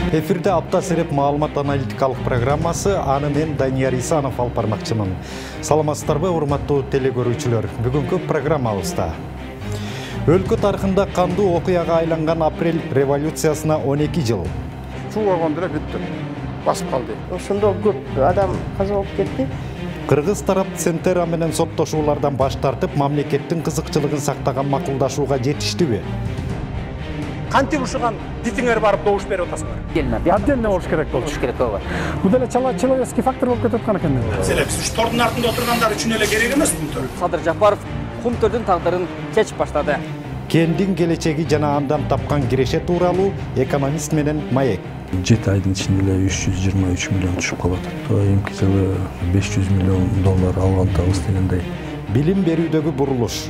Эфирде апта сереп маалымат аналитикалык программасы, аны мен Данияр Исанов алып бармакчымын. Саламатсыздарбы, урматтуу телекөрүүчүлөр. Бүгүнкү программабызда өлкө тарыхында кандуу окуяга айланган апрель революциясына 12 жыл. Чуу болгондо эле бүттү. Басып калды. Ошондо көп адам каза болуп кетти. Кыргыз тарап Центера менен соттошуулардан баш тартып, мамлекеттин кызыкчылыгын сактаган макулдашууга жетиштиби? Кантип ушуган битиңер барып добуш берип атасыңар? Отдельно болуш керек болчу. Бул деле человеческий фактор болуп кетип аткан экен. Биз тордун артында отургандар үчүн эле керек эмес бул төр. Садыр Жапаров Кумтөрдүн тагдырын чечип баштады. Кендин келечеги жана андан тапкан киреше тууралуу экономист менен маек. 7 айдын ичинде эле 323 миллион түшүп калат. Эмки жылы 500 миллион доллар алгандабыз дегендей. Билим берүүдөгү бурулуш.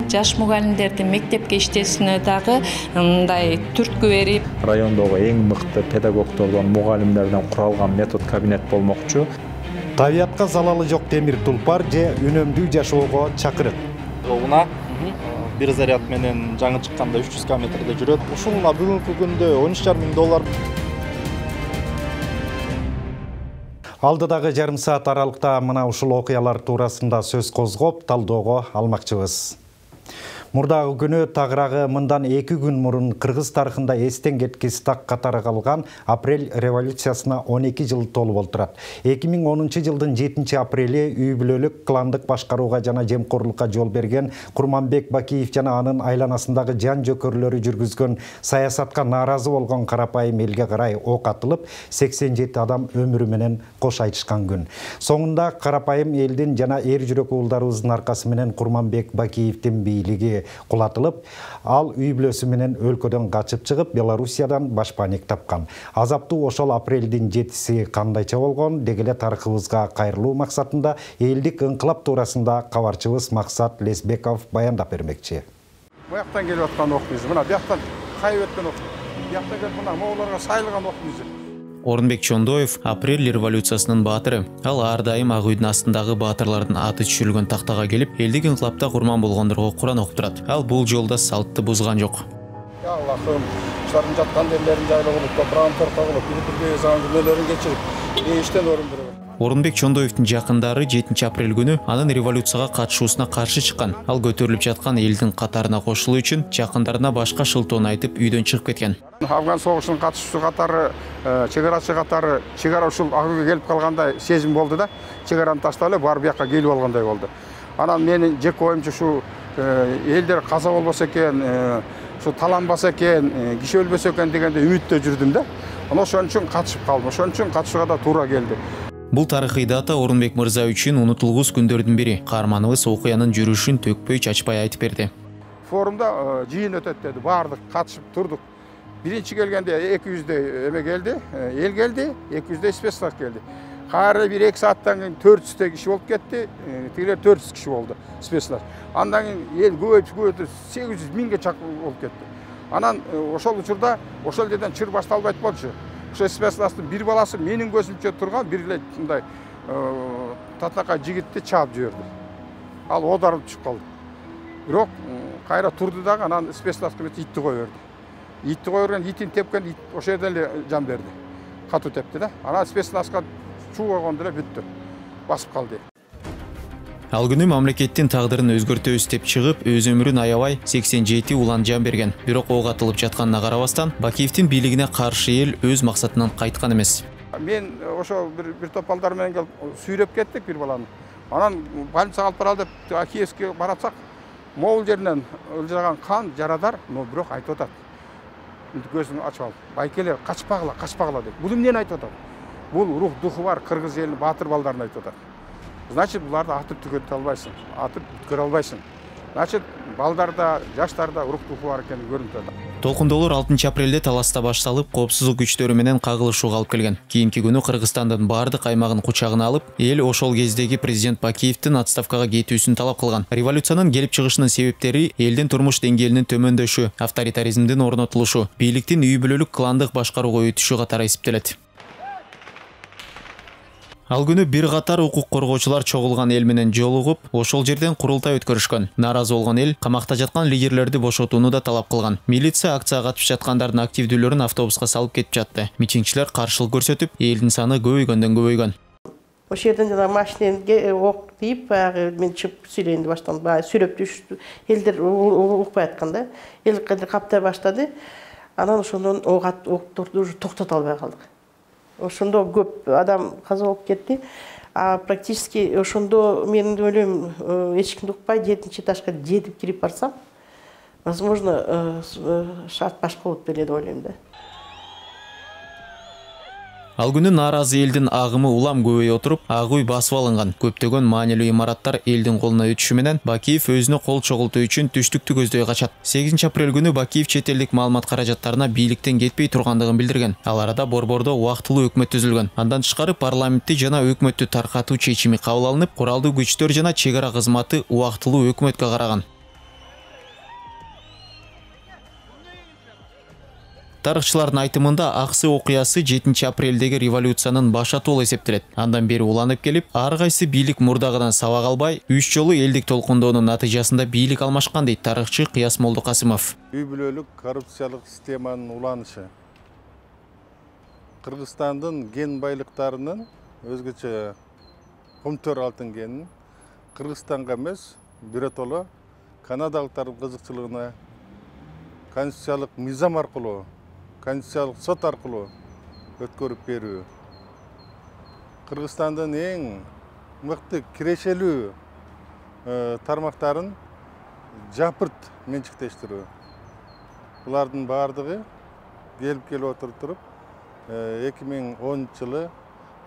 Жаш мугалимдерди мектепке иштесине дагы мындай түрткү берип, райондогу эң мыкты педагогдордон, мугалимдерден куралган метод кабинет болмокчу. Табиятка залалы жок темир тулпар же үнөмдүү жашоого чакырык. Уна бир заряд менен жаңы чыкканда 300 километрде жүрөт. Ушуна бүгүнкү күндө 13,5 миң доллар. Алдыдагы жарым саат аралыкта мына ушул окуялар туурасында сөз козгоп, талдоого алмакчыбыз. Мурдагы күнү тагыраагы мындан 2 күн мурун кыргыз тарыхында эстен кеткис так катары калган апрель революциясына 12 жыл толуп олтурат. 2010 жылдын 7 апрели үй бүлөлүк кландык башкарууга жана жемкорлукка жол берген Курманбек Бакиев жана анын айланасындагы жан жөкөрлөрү жүргүзгөн саясатка нааразы болгон карапайым элге карай ок атылып, 87 адам өмүрү менен кош айтышкан күн. Соңунда карапайым элдин жана эр жүрөк уулдарыбыздын аркасы менен Курманбек Бакиевдин бийлиги кулатылып, ал үй бүлөсү менен өлкөдөн качып чыгып, Белоруссиядан башпаанек тапкан. Азаптуу ошол апрелдин 7-си кандайча болгон дегеле тарыхыбызга кайрылуу максатында элдик ыңкылап туурасында кабарчыбыз Максат Лесбеков баяндап бермекчи. Буяктан келип аткан окуйбуз. Мына буяктан кайып өткөн окуйбуз. Буяктан келип мына моголорго сайылган окуйбуз. Орунбек Чондоев апрель революциясынын баатыры. Ал ар дайым ак үйдүн астындагы баатырлардын аты түшүрүлгөн тактага келип, элдик ыңкылапта курман болгондорго Куран окуп турат. Ал бул жолда салтты бузган жок. Я Аллахым, ушулардын жаткан жерлерин жайлап кылып, топурагын торкок кылып, бир-бирге жазган күнөөлөрүн кечирип, иштен орун берет. Орунбек Чондоевдин жакындары 7 апрель күнү анын революцияга катышуусуна каршы чыккан. Ал көтөрүлүп жаткан элдин катарына кошулуу үчүн жакындарына башка шылтоону айтып үйдөн чыгып кеткен. Афган согушунун катышуучу катары, чегарачы катары, чегара ушул ак үйгө келип калгандай сезим болду да, чегараны таштап эле барып бияка келип алгандай болду. Анан менин жеке оюмча ушу элдер каза болбосо экен, ушу таланбаса экен, киши өлбөсө экен дегенде үмүттө жүрдүм да. Анан ошон үчүн катышып калдым. Ошон үчүн катышууга да туура келди. Бул тарыхый дата Орунбек мырза үчүн унутулгус күндөрдүн бири. Каарманыбыз окуянын жүрүшүн төкпөй чачпай айтып берди. Форумда жыйын өтөт деди. Бардык катышып турдук. Биринчи келгенде 200 эме келди, эл келди, 200 спецтар келди. Кайра бир 2 сааттан кийин 400 киши болуп кетти, тигилер 400 киши болду спецтар. Андан кийин эл көбөйтүп 800 миңге чакын болуп кетти. Анан ошол учурда ошол жерден чыр башталбайт болчу. Ошо спецтардын бир баласы менин көзүмчө турган бир эле мындай татакай жигитти чаап жиберди. Ал оодарылып чыгып калды. Бирок кайра турду дагы, анан спецтардын бет итти кое берди. Итти кое берген, итин тепкен, ит ошол жерден эле жан берди. Катуу тепти да. Анан спецтардга чуу болгондо эле бүттү. Басып калды. Ал күнү мамлекеттин тагдырын өзгөртөбүз деп чыгып, өз өмүрүн аябай 87 улан жан берген. Бирок ок атылып жатканына карабастан, Бакиевдин бийлигине каршы эл өз максатынан кайткан эмес. Мен ошо бир топ балдар менен келип сүйрөп кеттик бир баланы. Анан больницага алып баралы деп Киевге баратсак, могул жеринен ылжыраган кан, жарадар, но бирок айтып атат. Көзүн ачып алып, байкелер качпагыла деп. Бул эмнени айтып атат? Бул рух духу бар кыргыз элинин баатыр балдарын айтып атат. Значит, буларды атып түгөтө албайсың, атып бүткөрө албайсың. Значит, балдарда, жаштарда рух духу бар экени көрүнүп атат. Толкундоолор 6 апрелде таласта башталып, коопсуздук күчтөрү менен кагылышууга алып келген. Кийинки күнү Кыргызстандын бардык аймагын кучагына алып, эл ошол кездеги президент Бакиевдин отставкага кетүүсүн талап кылган. Революциянын келип чыгышынын себептери элдин турмуш деңгээлинин төмөндөшү, авторитаризмдин орнотулушу, бийликтин үй бүлөлүк кландык башкарууга өтүшү катары эсептелет. Ал күнү бир катар укук коргоочулар чогулган эл менен жолугуп, ошол жерден курултай өткөрүшкөн. Наразы болгон эл камакта жаткан лидерлерди бошотууну да талап кылган. Милиция акцияга катышып жаткандардын активдүүлөрүн автобуска салып кетип жатты. Митингчилер каршылык көрсөтүп, элдин саны көбөйгөндөн көбөйгөн. Ошол жерден жана машинеге ок тийип, баягы мен чыгып сүйлөйүн деп баштадым. Баягы сүйлөп түштү. Элдер укпай аткан да. Эл каптай баштады. Анан ошондон октурду уже токтото албай калдык. Ошондо көп адам каза болуп кетти. Практически ошондо мен ойлойм, эч кимди укпай 7-чи этажга жетип кирип барсам, возможно, шарт башка болуп беле деп ойлойм да. Ал күнү нааразы элдин агымы улам көбөйө отуруп, агуй басып алынган. Көптөгөн маанилүү имараттар элдин колуна өтүшү менен Бакиев өзүнө кол чогултуу үчүн түштүктү көздөй качат. 8-апрель күнү Бакиев чет элдик маалымат каражаттарына бийликтен кетпей тургандыгын билдирген. Ал арада борбордо убактылуу өкмөт түзүлгөн. Андан тышкары парламентти жана өкмөттү таркатуу чечими кабыл алынып, куралдуу күчтөр жана чек ара кызматы убактылуу өкмөткө караган. Тарыхчылардын айтымында аксы окуясы 7-апрелдеги революциянын башатуу болуп эсептелет. Андан бери уланып келип, ар кайсы бийлик мурдагыдан сабак албай, 3 жолу элдик толкундоонун натыйжасында бийлик алмашкан дейт тарыхчы Кыяс Молдокасымов. Үй бүлөлүк коррупциялык системанын уланышы. Кыргызстандын ген байлыктарынын өзгөчө Кумтөр алтын генин Кыргызстанга эмес, биротоло канадалыктардын кызыкчылыгына конституциялык мыйзам аркылуу, конституциялык сот аркылуу өткөрүп берүү. Кыргызстандын эң мыкты кирешелүү тармактарын жапырт менчиктештирүү. Булардын бардыгы келип отуруп 2010 жылы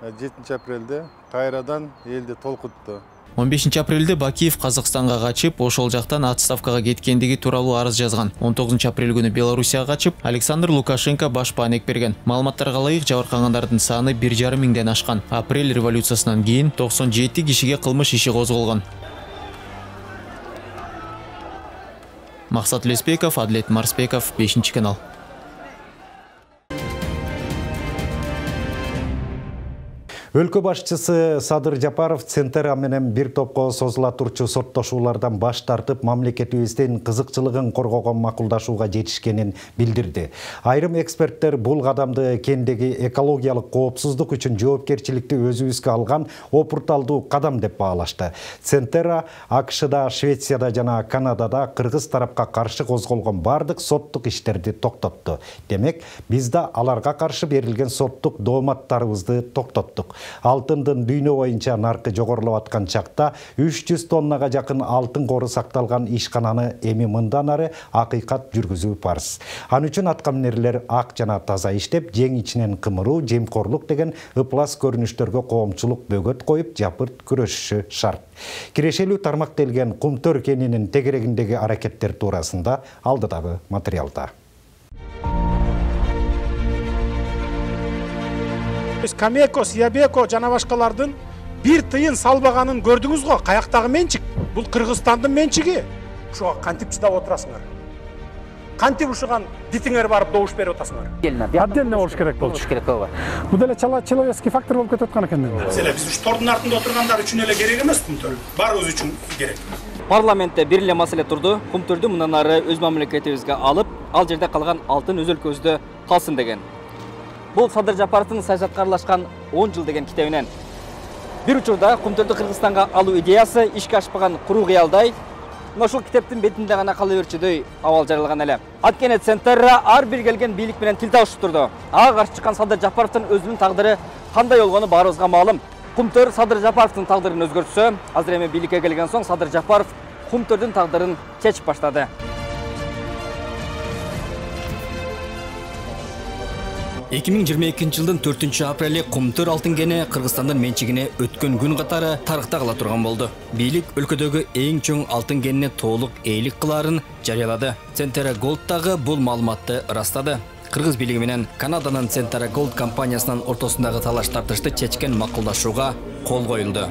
7-апрелде кайрадан элди толкутту. 15-апрелде Бакиев Казакстанга качып, ошол жактан отставкага кеткендиги тууралуу арыз жазган. 19-апрель күнү Белоруссияга качып, Александр Лукашенко баш баанек берген. Маалыматтарга ылайык жабыркагандардын саны 1,5 миңден ашкан. Апрель революциясынан кийин 97 кишиге кылмыш иши козголгон. Максат Леспеков, Адлет Марспеков, 5-канал. Өлкө башчысы Садыр Жапаров Центера менен бир топко созула турчу соттошуулардан баш тартып, мамлекетибиздин кызыкчылыгын коргогон макулдашууга жетишкенин билдирди. Айрым эксперттер бул кадамды кендеги экологиялык коопсуздук үчүн жоопкерчиликти өзүбүзгө алган опурталдуу кадам деп баалашты. Центера АКШда, Швецияда жана Канадада кыргыз тарапка каршы козголгон бардык соттук иштерди токтотту. Демек, биз да аларга каршы берилген соттук дооматтарыбызды токтоттук. Алтындын дүйнө боюнча наркы жогорулап аткан чакта 300 тоннага жакын алтын кору сакталган ишкананы эми мындан ары акыйкат жүргүзүү парыз. Ан үчүн аткаминерлер ак жана таза иштеп, жең ичинен кымыруу, жемкорлук деген ыплас көрүнүштөргө коомчулук бөгөт коюп, жапырт күрөшүшү шарт. Кирешелүү тармактелген Кумтөр кенинин тегерегиндеги аракеттер туурасында алдыдагы материалда. Камеко, Сиябеко жана башкалардын бир тыйын салбаганын көрдүңүз го. Каяктагы менчик? Бул Кыргызстандын менчиги. Ошого кантип чыдап отурасыңар? Кантип ушуган дитиңер барып добуш берип атасыңар? Отдельно болуш керек болчу. Бул деле человеческий фактор болуп кетип аткан экен. Биз уш тордун артында отургандар үчүн эле керек эмес Кумтөр. Баарыбыз үчүн керек. Парламентте бир эле маселе турду. Кумтөрдү мындан ары өз мамлекетибизге алып, ал жерде калган алтын өз өлкөбүздө калсын деген. Бул Садыр Жапаровдун саясатка аралашкан 10 жыл деген китебинен. Бир учурда Кумтөрдү Кыргызстанга алуу идеясы ишке ашпаган куру кыялдай, ошол китептин бетинде гана кала берчүдөй абал жаралган эле. Анткени Центера ар бир келген бийлик менен тил табышып турду. Ага каршы чыккан Садыр Жапаровдун өзүнүн тагдыры кандай болгону баарыбызга маалым. Кумтөр Садыр Жапаровдун тагдырын өзгөртсө, азыр эми бийликке келген соң Садыр Жапаров Кумтөрдүн тагдырын чечип баштады. 2022 жылдын 4-апрели Кумтөр алтын кени Кыргызстандын менчигине өткөн күн катары тарыхта кала турган болду. Бийлик өлкөдөгү эң чоң алтын кенине толук ээлик кылаарын жарыялады. Центера Голд дагы бул маалыматты ырастады. Кыргыз бийлиги менен Канаданын Центера Голд компаниясынын ортосундагы талаш тартышты чечкен макулдашууга кол коюлду.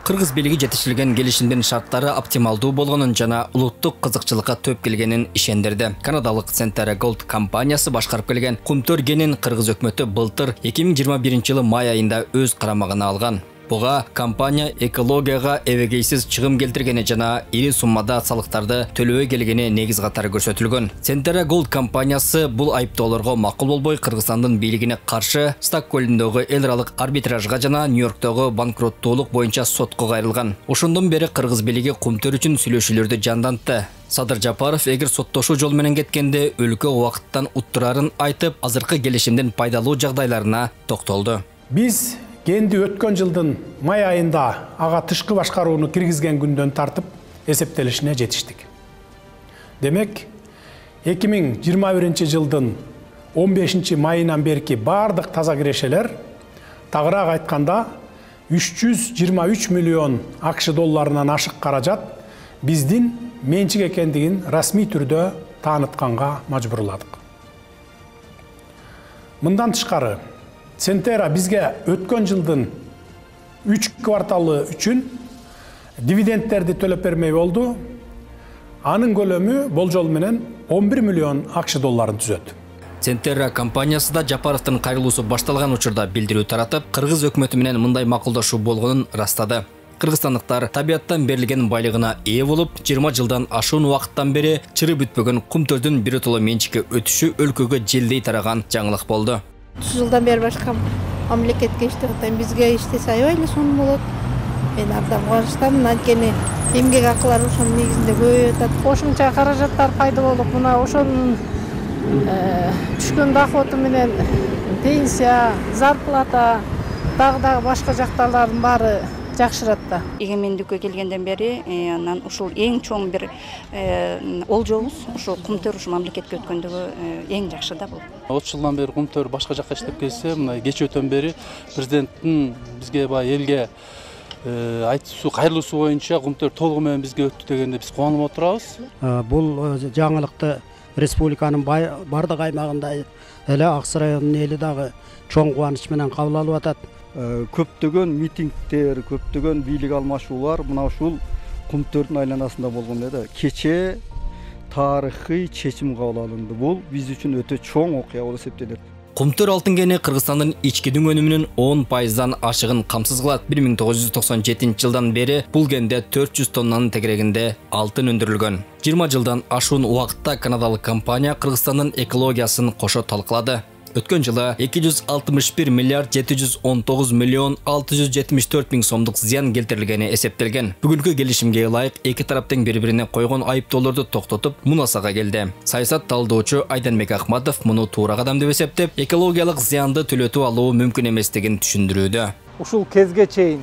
Кыргыз бийлиги жетишилген келишимдин шарттары оптималдуу болгонун жана улуттук кызыкчылыкка төп келгенин ишендирди. Канадалык Centerra Gold компаниясы башкарып келген кумтөр кенин кыргыз өкмөтү былтыр 2021-жылы май айында өз карамагына алган. Буга компания экологияга эбегейсиз чыгым келтиргени жана ири суммада салыктарды төлөбөй келгени негиз катары көрсөтүлгөн. Centerra Gold компаниясы бул айыптоолорго макул болбой Кыргызстандын бийлигине каршы Стокгольмдогу эл аралык арбитражга жана Нью-Йорктогу банкроттуулук боюнча сотко кайрылган. Ошондон бери Кыргыз бийлиги кумтөр үчүн сүйлөшүүлөрдү жандантты. Садыр Жапаров эгер соттошуу жол менен кеткенде өлкө убакыттан уттурарын айтып, азыркы келишимдин пайдалуу жагдайларына токтолду. Биз кенди өткөн жылдын май айында ага тышкы башкарууну киргизген күндөн тартып эсептелишине жетиштик. Демек, 2021 жылдын 15 майынан берки бардык таза кирешелер, тагыраак айтканда 323 миллион АКШ долларынан ашык каражат биздин менчик экендигин расмий түрдө таанытканга мажбурладык. Мындан тышкары, Centerra бизге өткөн жылдын 3 кварталы үчүн дивидендтерди төлөп бермей болду. Анын көлөмү болжол менен 11 миллион АКШ долларын түзөт. Centerra компаниясы да Жапаровдун кайрылуусу башталган учурда билдирүү таратып, Кыргыз өкмөтү менен мындай макулдашуу болгонун ырастады. Кыргызстандыктар табиаттан берилген байлыгына ээ болуп, 20 жылдан ашуун убакыттан бери чыры бүтпөгөн кумтөрдүн биротоло менчикке өтүшү өлкөгө желдей тараган жаңылык болду. 30 жылдан бери башка мамлекетке иштеген бизге иштесе аябай эле сонун болот. Мен абдан кубанычтамын, анткени эмгек акылары ошонун негизинде көбөйүп атат. Кошумча каражаттар пайда болуп, мына ошонун түшкөн доходу менен пенсия, зарплата, дагы башка жактарлардын баары жакшырат да. Эгемендикке келгенден бери анан ушул эң чоң бир олжобуз, ушул кумтөр ушу мамлекетке өткөндөгү эң жакшы да бул. 30 жылдан бери кумтөр башка жакка иштеп келсе, мына кечөөтөн бери президенттин бизге баягы элге айтуусу, кайрылуусу боюнча кумтөр толугу менен бизге өттү дегенде биз кубанып отурабыз. Бул жаңылыкты республиканын бардык аймагында эле Ак Сай районунун эли дагы чоң кубаныч менен кабыл алып атат. Көптөгөн митингдер, көптөгөн бийлик алмашуулар мына ушул кумтөрдүн айланасында болгон эле. Кечээ тарыхый чечим кабыл алынды. Бул биз үчүн өтө чоң окуя болуп эсептелет. Кумтөр алтын кени Кыргызстандын ички өнүмүнүн 10%дан ашыгын камсыз кылат. 1997 жылдан бери бул кенде 400 тоннанын тегерегинде алтын өндүрүлгөн. 20 жылдан ашуун убакытта канадалык компания Кыргызстандын экологиясын кошо талкылады. Өткөн жылы 261 миллиард 719 миллион 674 миң сомдук зыян келтирилгени эсептелген. Бүгүнкү келишимге ылайык эки тараптын бири-бирине койгон айыптоолорду токтотуп, мунасага келди. Саясат талдоочу Айданбек Ахматов муну туура кадам деп эсептеп, экологиялык зыянды төлөтүп алуу мүмкүн эместигин түшүндүрүүдө. Ушул кезге чейин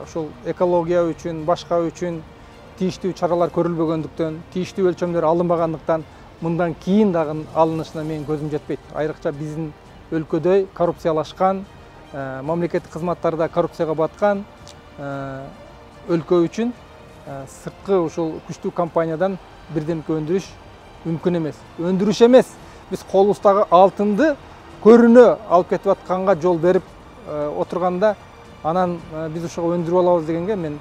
ушул экология үчүн, башка үчүн тийиштүү чаралар көрүлбөгөндүктөн, тийиштүү өлчөмдөр алынбагандыктан мындан кийин дагы алынышына менин көзүм жетпейт. Айрыкча биздин өлкөдө коррупциялашкан, мамлекеттик кызматтарда коррупцияга баткан өлкө үчүн сырткы ушул күчтүү компаниядан бирдемке өндүрүш мүмкүн эмес. Өндүрүш эмес, биз колубуздагы алтынды көрүнө алып кетип атканга жол берип отурганда, анан биз ушуга өндүрүп алабыз дегенге мен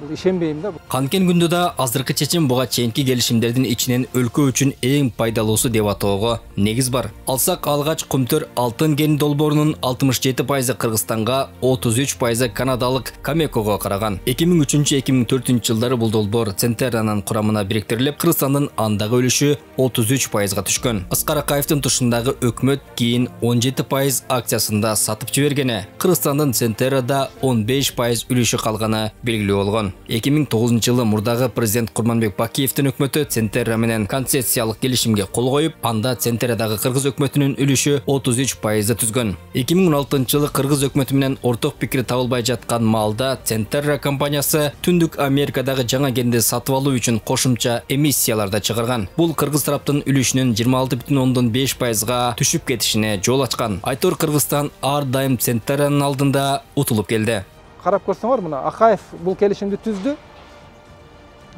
ишенбейм да. Канткен күндө да азыркы чечим буга чейинки келишимдердин ичинен өлкө үчүн эң пайдалуусу деп атоого негиз бар. Алсак алгач кумтөр алтын кен долбоорунун 67% Кыргызстанга, 33% канадалык Камекого караган. 2003-2004 жылдары бул долбоор Centerranын курамына бириктирилип, Кыргызстандын андагы үлүшү 33%га түшкөн. Аскар Акаевдин тушундагы өкмөт кийин 17% акциясында сатып жибергени, Кыргызстандын Centerrada 15% үлүшү калганы белгилүү болгон. 2009 жылы мурдагы президент Курманбек Бакиевдин өкмөтү Centerra менен концессиялык келишимге кол коюп, анда Centerradагы кыргыз өкмөтүнүн үлүшү 33% түзгөн. 2016 жылы кыргыз өкмөтү менен орток пикир табылбай жаткан маалда Centerra компаниясы Түндүк Америкадагы жаңа кенди сатып алуу үчүн кошумча эмиссияларда чыгарган. Бул кыргыз тараптын үлүшүнүн 26,5%га түшүп кетишине жол ачкан. Айтор Кыргызстан ар дайым Centerranын алдында утулуп келди. Карап көрсөңөр, мына Акаев бул келишимди түздү.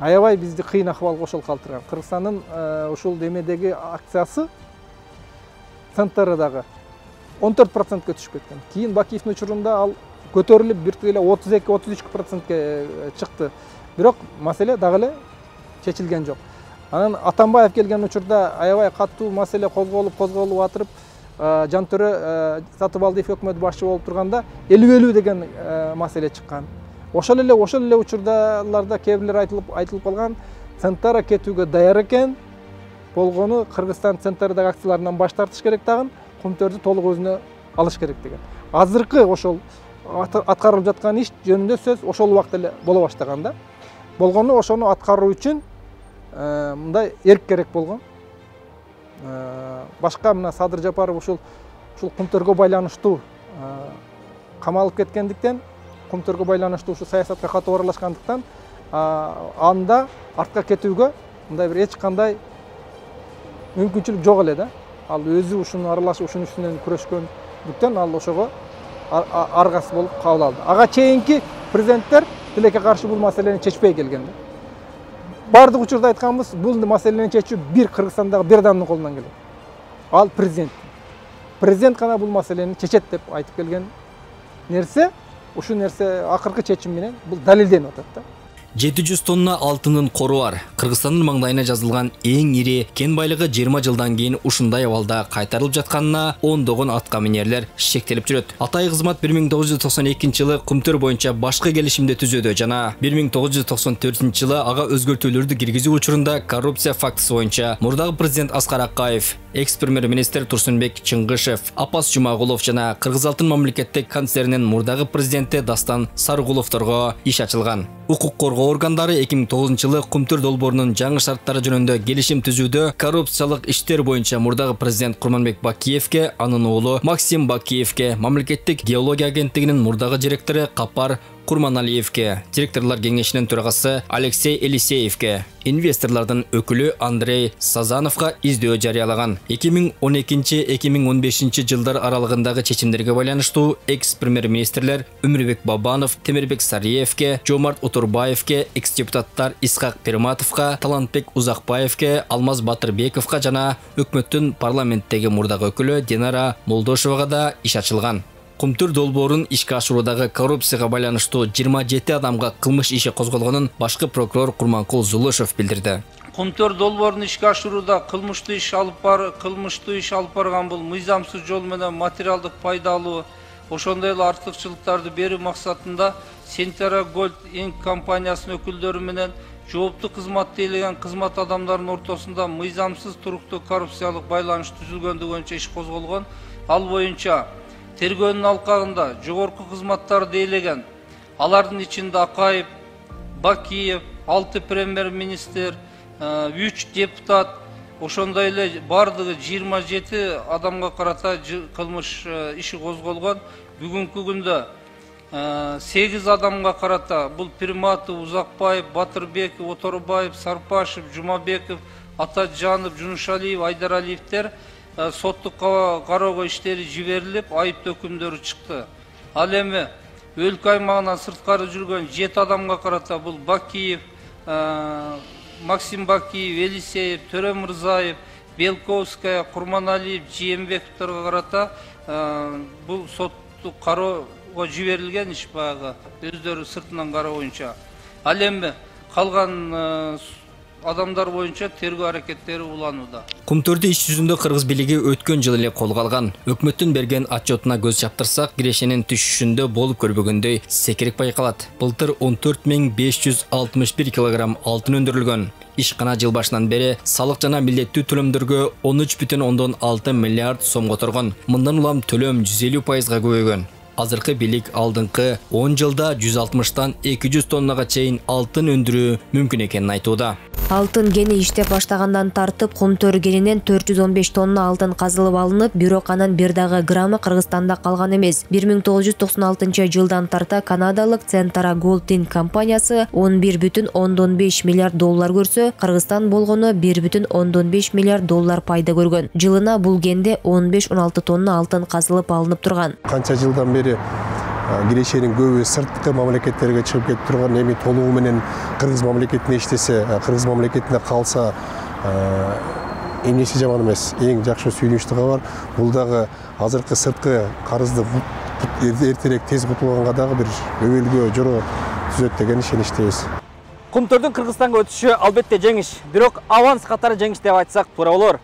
Аябай бизди кыйын акыбалга ошол калтырган. Кыргызстандын ушул демедеги акциясы Centerradагы 14%га түшүп кеткен. Кийин Бакиевдин учурунда ал көтөрүлүп 32-33%ке чыкты. Бирок маселе дагы эле чечилген жок. Анан Атамбаев келген учурда аябай катуу маселе козголуп атырып, Жантөрө Сатыбалдиев өкмөт башчы болуп турганда 50-50 деген маселе чыккан. Ошол эле учурларда кээ бирлер айтылып калган, Центара кетүүгө даяр экен, болгону Кыргызстан Центардагы акцияларынан баш тартыш керек дагы, Кумтөрдү толук өзүнө алыш керек деген. Азыркы ошол аткарылып жаткан иш жөнүндө сөз ошол убакта эле боло баштаган да. Болгону ошону аткаруу үчүн мындай эрк керек болгон. Башка мына Садыр Жапаров ушул Кумтөргө байланыштуу камалып кеткендиктен, Кумтөргө байланыштуу ушу саясатка катуу аралашкандыктан, анда артка кетүүгө мындай бир эч кандай мүмкүнчүлүк жок эле да. Ал өзү ушуну аралашып, ушунун үстүнөн күрөшкөндүктөн ал ошого аргасы болуп кабыл алды. Ага чейинки президенттер тилекке каршы бул маселени чечпей келген. Бардык учурда айтканбыз, бул маселени чечүү бир Кыргызстандагы бир адамдын колунан келет. Ал президент. Президент гана бул маселени чечет деп айтып келген нерсе, ушул нерсе акыркы чечим менен бул далилденип атат да. 700 тонна алтынын кору бар. Кыргызстандын маңдайына жазылган эң ири кен байлыгы 20 жылдан кийин ушундай абалда кайтарылып жатканына ондогон атка минерлер шектелип жүрөт. Атай кызмат 1992-жылы Кумтөр боюнча башкы келишимди түзөдү жана 1994-жылы ага өзгөртүүлөрдү киргизүү учурунда коррупция фактысы боюнча мурдагы президент Аскар Акаев, экс-премьер-министр Турсунбек Чыңгышев, Апас Жумагулов жана Кыргызалтын мамлекеттик концернинин мурдагы президенти Дастан Сарыгуловторго иш ачылган. Укук коргоо органдары 2009-жылы Кумтөр долбоорунун жаңы шарттары жөнүндө келишим түзүүдө коррупциялык иштер боюнча мурдагы президент Курманбек Бакиевке, анын уулу Максим Бакиевке, мамлекеттик геология агенттигинин мурдагы директору Капар Курманалиевке, директорлор кеңешинин төрагасы Алексей Елисеевке, инвесторлордун өкүлү Андрей Сазановго издөө жарыялаган. 2012-2015 жылдар аралыгындагы чечимдерге байланыштуу экс-премьер-министрлер Өмүрбек Бабанов, Темирбек Сариевке, Жомарт Утурбаевке, экс-депутаттар Исхак Перматовго, Талантбек Узакбаевке, Алмаз Батырбековго жана өкмөттүн парламенттеги мурдагы өкүлү Динара Молдошевага да иш ачылган. Кумтөр долбоорун ишке ашыруудагы коррупцияга байланыштуу 27 адамга кылмыш иши козголгонун башкы прокурор Курманкул Зулушев билдирди. Кумтөр долбоорун ишке ашырууда кылмыштуу иш алып барган бул мыйзамсыз жол менен материалдык пайда алуу, ошондой эле артыкчылыктарды берүү максатында Сентара Голд Инк компаниясынын өкүлдөрү менен жооптуу кызматты ээлеген кызмат адамдарынын ортосунда мыйзамсыз туруктуу коррупциялык байланыш түзүлгөндүгү боюнча иш козголгон. Ал боюнча тергөөнүн алкагында жогорку кызматтарды ээлеген, алардын ичинде Акаев, Бакиев, 6 премьер-министр, 3 депутат, ошондой эле бардыгы 27 адамга карата кылмыш иши козголгон. Бүгүнкү күндө 8 адамга карата бул Перматов, Узакбаев, Батырбеков, Оторбаев, Сарпашев, Жумабеков, Атаджанов, Жунушалиев, Айдаралиевдер соттук кароого иштери жиберилип, айыптоо өкүмдөрү чыкты. Ал эми өлкө аймагынан сырткары жүргөн 7 адамга карата бул Бакиев, Максим Бакиев, Елисеев, Төрө Мырзаев, Белковская, Курманалиев, Жиембековторго карата бул соттук кароого жиберилген иш баягы өздөрү сыртынан кароо боюнча. Ал эми калган адамдар боюнча тергөө аракеттери уланууда. Кумтөрдү иш жүзүндө Кыргыз бийлиги өткөн жылы эле колго алган. Өкмөттүн берген отчетуна көз чаптырсак, кирешенин түшүшүндө болуп көрбөгөндөй секирик байкалат. Былтыр 14.561 килограмм алтын өндүрүлгөн. Ишкана жыл башынан бери салык жана милдеттүү төлөмдөргө 13,6 миллиард сом которгон. Мындан улам төлөм 150%га көбөйгөн. Азыркы бийлик алдыңкы 10 жылда 160-тан 200 тоннага чейин алтын өндүрүү мүмкүн экенин айтууда. Алтын кени иштеп баштагандан тартып Кумтөр кенинен 415 тонна алтын казылып алынып, бирок анын бир дагы граммы Кыргызстанда калган эмес. 1996 жылдан тарта канадалык Центара Голд Инк компаниясы 11,5 миллиард доллар көрсө, Кыргызстан болгону 1,5 миллиард доллар пайда көргөн. Жылына бул кенде 15-16 тонна алтын казылып алынып турган. Канча жылдан бери кирешенин көбү сырткы мамлекеттерге чыгып кетип турган, эми толугу менен Кыргыз мамлекетине иштесе, Кыргыз мамлекетине калса эмнеси жаман эмес, эң жакшы сүйүнүчтүү кабар. Бул дагы азыркы сырткы карызды эртерээк тез кутулганга дагы бир өбөлгө жоро түзөт деген ишеничтебиз. Кумтөрдүн Кыргызстанга өтүшү албетте жеңиш, бирок аванс катары жеңиш деп айтсак туура болор.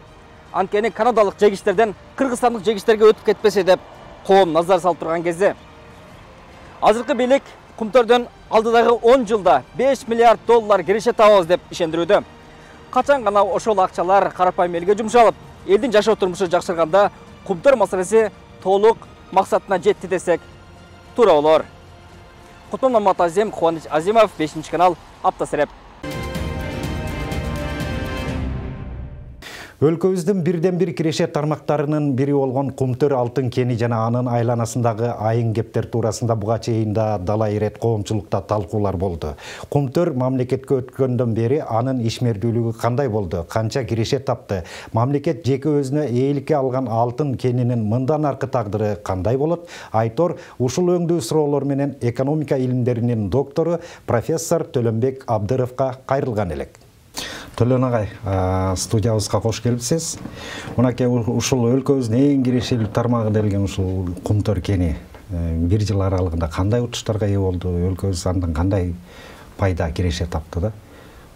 Анткени канадалык жегичтерден кыргызстандык жегичтерге өтүп кетпесе деп коом назар салып турган кезде. Азыркы бийлик Кумтөрдөн алдыдагы 10 жылда 5 миллиард доллар киреше табабыз деп ишендирүүдө. Качан гана ошол акчалар карапайым элге жумшалып, элдин жашоо турмушу жакшырганда Кумтөр маселеси толук максатына жетти десек туура болор. Кутман Маматазим, Кубаныч Азимов, 5-канал, Аптасыреп. Өлкөбүздүн бирден бир киреше тармактарынын бири болгон Кумтөр алтын кени жана анын айланасындагы айын кептер туурасында буга чейин да далай ирет коомчулукта талкуулар болду. Кумтөр мамлекетке өткөндөн бери анын ишмердүүлүгү кандай болду? Канча киреше тапты? Мамлекет жеке өзүнө ээликке алган алтын кенинин мындан аркы тагдыры кандай болот? Айтор ушул өңдүү суроолор менен экономика илимдеринин доктору профессор Төлөнбек Абдыровго кайрылган элек. Төлөн агай, студиябызга кош келипсиз. Мынакей ушул өлкөбүздүн эң кирешелүү тармагы делген ушул Кумтөр кени бир жыл аралыгында кандай утуштарга ээ болду? Өлкөбүз андан кандай пайда киреше тапты да?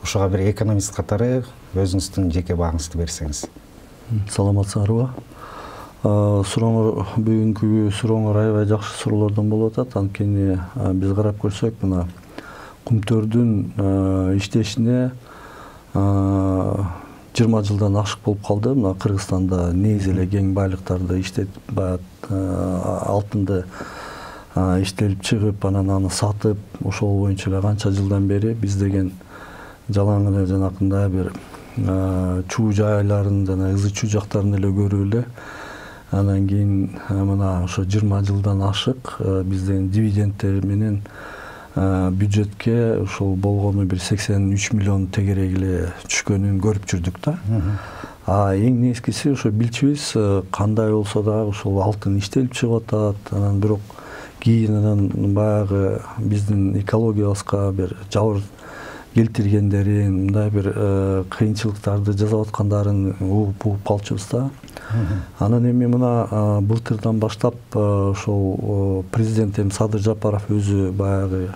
Ушуга бир экономист катары өзүңүздүн жеке бааңызды берсеңиз. Саламатсыңарбы? Сурооңор бүгүнкү сурооңор аябай жакшы суроолордон болуп атат. Анткени биз карап көрсөк, мына Кумтөрдүн иштешине 20 жылдан ашык болуп калды. Мына Кыргызстанда негизи эле кең байлыктарды иштетип, алтынды иштелип чыгып, анан аны сатып, ошол боюнча эле канча жылдан бери биз деген жалаң эле жанакындай бир чуу жайларын жана ызы чуу жактарын эле көрүп эле. Анан кийин мына ошо 20 жылдан ашык бизден дивидендтер менен бюджетке ошол болгону бир 83 миллион тегерек эле түшкөнүн көрүп жүрдүк да. Эң негизгиси ошо билчүбүз кандай болсо дагы ошол алтын иштелип чыгып атат. Анан бирок кийин анан баягы биздин экологиябызга бир жабыр келтиргендерин, мындай бир кыйынчылыктарды жасап аткандарын угуп калчубуз да. Анан эми мына былтырдан баштап ошол президент Садыр Жапаров өзү баягы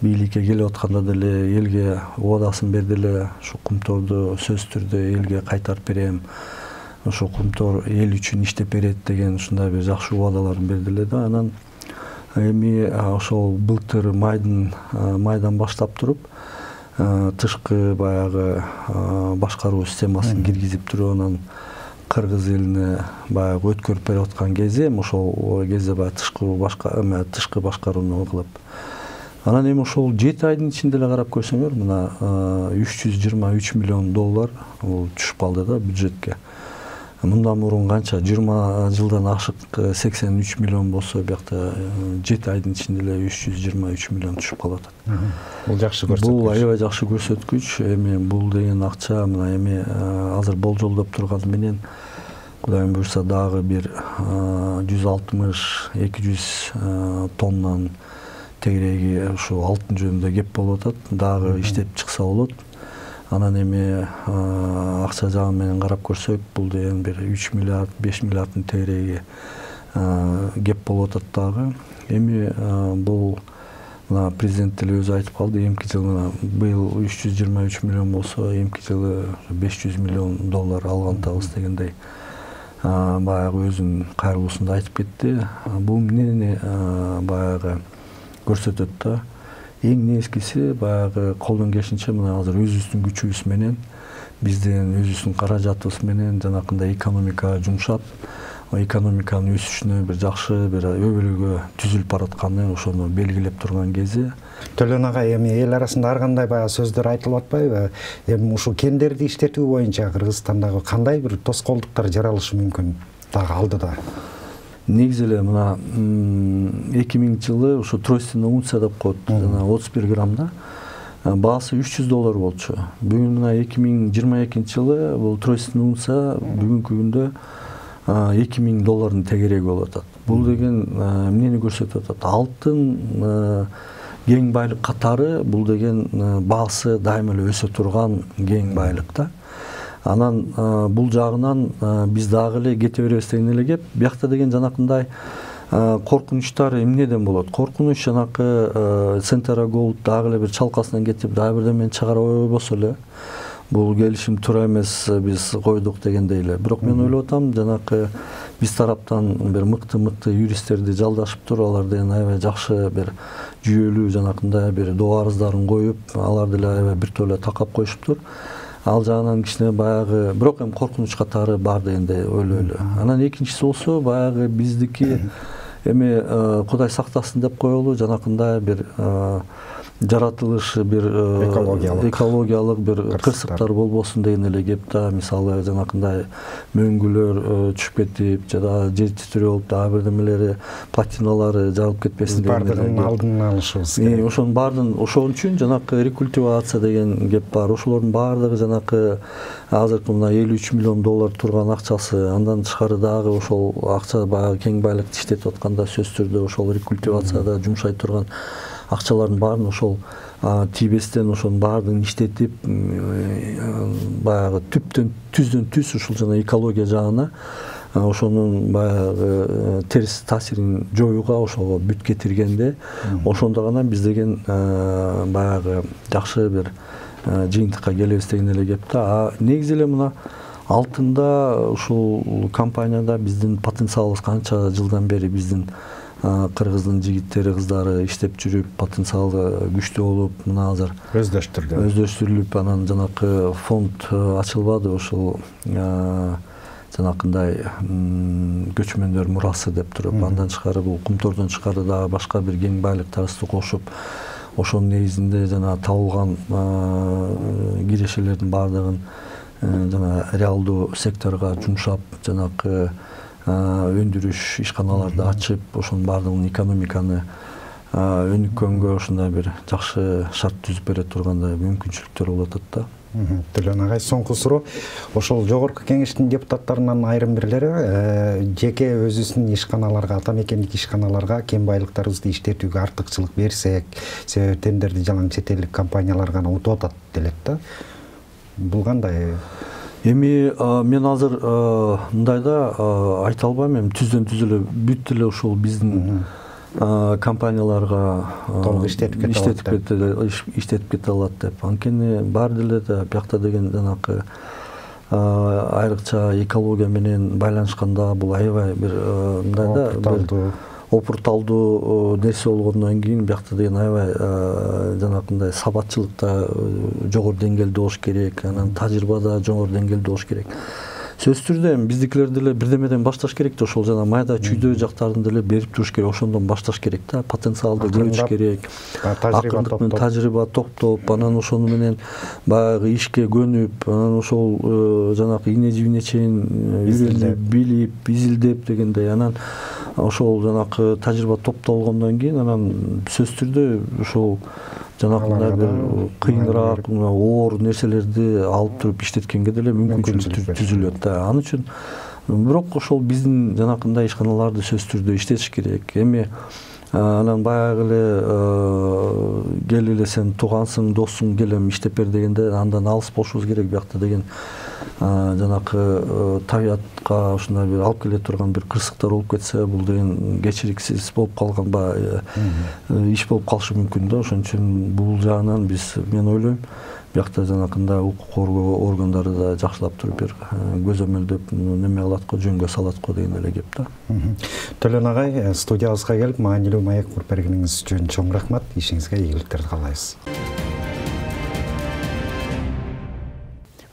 бийликке келип атканда деле элге убадасын берди эле, ушу Кумторду сөзсүз түрдө элге кайтарып берем, ошо Кумтор эл үчүн иштеп берет деген ушундай бир жакшы убадаларын берди эле да. Анан эми ошол былтыр майдан баштап туруп тышкы баягы башкаруу системасын киргизип туруп, анан кыргыз элине баягы өткөрүп берип аткан кезде, ошол кезде баягы тышкы башкарууну кылып. Анан эми ошол 7 айдын ичинде эле карап көрсөңөр, мына 323 миллион доллар түшүп калды да бюджетке. Мындан мурун канча 20 жылдан ашык 83 миллион болсо, биякта 7 айдын ичинде эле 323 миллион түшүп калып атат. Бул жакшы көрсөткүч. Бул аябай жакшы көрсөткүч. Эми бул деген акча мына эми азыр болжолдоп турганы менен Кудайым буйрса дагы бир 160-200 тоннан тегереги ушу алтын жөнүндө кеп болуп атат. Дагы иштеп чыкса болот. Анан эми акча жагы менен карап көрсөк, бул деген бир 3 миллиард, 5 миллиарддын тегереги кеп болуп атат дагы. Эми бул мына президент деле өзү айтып калды, эмки жылы быйыл 323 миллион болсо, эмки жылы 500 миллион доллар алгандабыз дегендей баягы өзүнүн кайрылуусунда айтып кетти. Бул эмнени баягы көрсөтөт да. Эң негизгиси баягы колдон келишинче мына азыр өзүбүздүн күчүбүз менен, биздин өзүбүздүн каражатыбыз менен жанакындай экономикага жумшап, экономиканын өсүшүнө бир жакшы бир өбөлгө түзүлүп баратканы ошону белгилеп турган кези. Төлөн агай, эми эл арасында ар кандай баягы сөздөр айтылып атпайбы? Эми ушул кендерди иштетүү боюнча Кыргызстандагы кандай бир тоскоолдуктар жаралышы мүмкүн дагы алдыда? Негизи эле мына 2000 жылы ушу тройственный унция деп коет, жана 31 граммда баасы 300 доллар болчу. Бүгүн мына 2022 жылы бул тройственный унция бүгүнкү күндө 2000 доллардын тегереги болуп атат. Бул деген эмнени көрсөтүп атат? Алтын кең байлык катары бул деген баасы дайыма эле өсө турган кең байлык да. Анан бул жагынан биз дагы эле кете беребиз деген эле кеп. Биякта деген жанакындай коркунучтар эмнеден болот? Коркунуч жанакы Центра Голд дагы эле бир чалкасынан кетип, дагы бирдемени чыгарып ойбосо эле бул келишим туура эмес, биз койдук дегендей эле. Бирок мен ойлоп атам, жанакы биз тараптан бир мыкты юристтерди жалдашыптыр, алар деген аябай жакшы бир жүйөлүү жанакындай бир доо арыздарын коюп, алар деле аябай биртөлө такап коюшуптур. Ал жагынан кичине баягы, бирок эми коркунуч катары бар дегендей ойлойлу. Анан экинчиси болсо, баягы биздики эми Кудай сактасын деп коелу, жанакындай бир жаратылыш бир экологиялык бир кырсыктар болбосун деген эле кеп да. Мисалы жанакындай мөңгүлөр түшүп кетип, жада жер титирөө болуп, дагы бирдемелери платиналары жарылып кетпесин деген эле. Бардыгын алдын алышыбыз керек. Ошонун баардыгын, ошон үчүн жанакы рекультивация деген кеп бар. Ошолордун баардыгы жанакы азыркы мына $53 миллион турган акчасы, андан тышкары дагы ошол акча баягы кең байлыкты иштетип атканда сөзсүз түрдө ошол рекультивацияда жумшай турган акчалардын баарын ошол тийбестен ошонун баардыгын иштетип, баягы түздөн түз ушул жана экология жагына ошонун баягы терс таасирин жоюуга ошого бүт кетиргенде, ошондо гана биз деген баягы жакшы бир жыйынтыкка келебиз деген эле кеп да. Негизи эле мына алтында ушул компанияда биздин потенциалыбыз канча жылдан бери биздин кыргыздын жигиттери, кыздары иштеп жүрүп, потенциалы күчтүү болуп, мына азыр өздөштүрүлүп, анан жанакы фонд ачылбады, ошол жанакындай көчмөндөр мурасы деп туруп, андан тышкары бул кумтордон тышкары дагы башка бир кең байлыктарыбызды кошуп, ошонун негизинде жана табылган кирешелердин баардыгын жана реалдуу секторго жумшап, жанакы өндүрүш ишканаларды ачып, ошонун баардыгын экономиканы өнүккөнгө ушундай бир жакшы шарт түзүп бере тургандай мүмкүнчүлүктөр болуп атат да. Төлөн агай, соңку суроо. Ошол жогорку кеңештин депутаттарынан айрым бирлери жеке өзүнүн ишканаларга, ата мекендик ишканаларга кем байлыктарыбызды иштетүүгө артыкчылык берсек, себеби тендерди жалаң чет элдик компаниялар гана утуп атат делет да. Бул кандай? Эми мен азыр мындайда айта албайм, эми түздөн түз эле бүт эле ушул биздин компанияларга иштетип кете алат деп. Анткени баары деле да биякта деген жанакы айрыкча экология менен байланышканда бул аябай бир мындайда опурталдуу нерсе болгондон кийин биякта деген аябай жанакындай сабатчылыкта жогору деңгээлде болуш керек, анан тажрыйба да жогору деңгээлде болуш керек. Сөзсүз түрдө биздикилер деле бирдемеден башташ керек да, ошол жана майда чүйдө жактарын деле берип туруш керек, ошондон башташ керек да, потенциалды көрүш керек. Акырындык менен тажрыйба топтоп, анан ошону менен баягы ишке көнүп, анан ошол жанакы ине жибине чейин үйрөнүп, билип, изилдеп дегендей, анан ошол жанакы тажрыйба топтолгондон кийин анан сөзсүз түрдө ошол жанакындай бир кыйыныраак, оор нерселерди алып туруп иштеткенге деле мүмкүнчүлүк түзүлөт да. Ал үчүн бирок ошол биздин жанакындай ишканаларды сөзсүз түрдө иштетиш керек. Эми анан баягы эле кел эле сен туугансың, доссуң, келем иштеп бер дегенде андан алыс болушубуз керек. Биякта деген жанакы табиятка ушундай бир алып келе турган бир кырсыктар болуп кетсе, бул деген кечириксиз болуп калган иш болуп калышы мүмкүн да. Ошон үчүн бул жагынан мен ойлойм, биякта жанакындай укук коргоо органдары да жакшылап туруп бир көзөмөлдөп неме кылат го, жөнгө салат го деген эле кеп да. Төлөн агай, студиябызга келип маанилүү маек куруп бергениңиз үчүн чоң рахмат. Ишиңизге ийгиликтерди каалайбыз.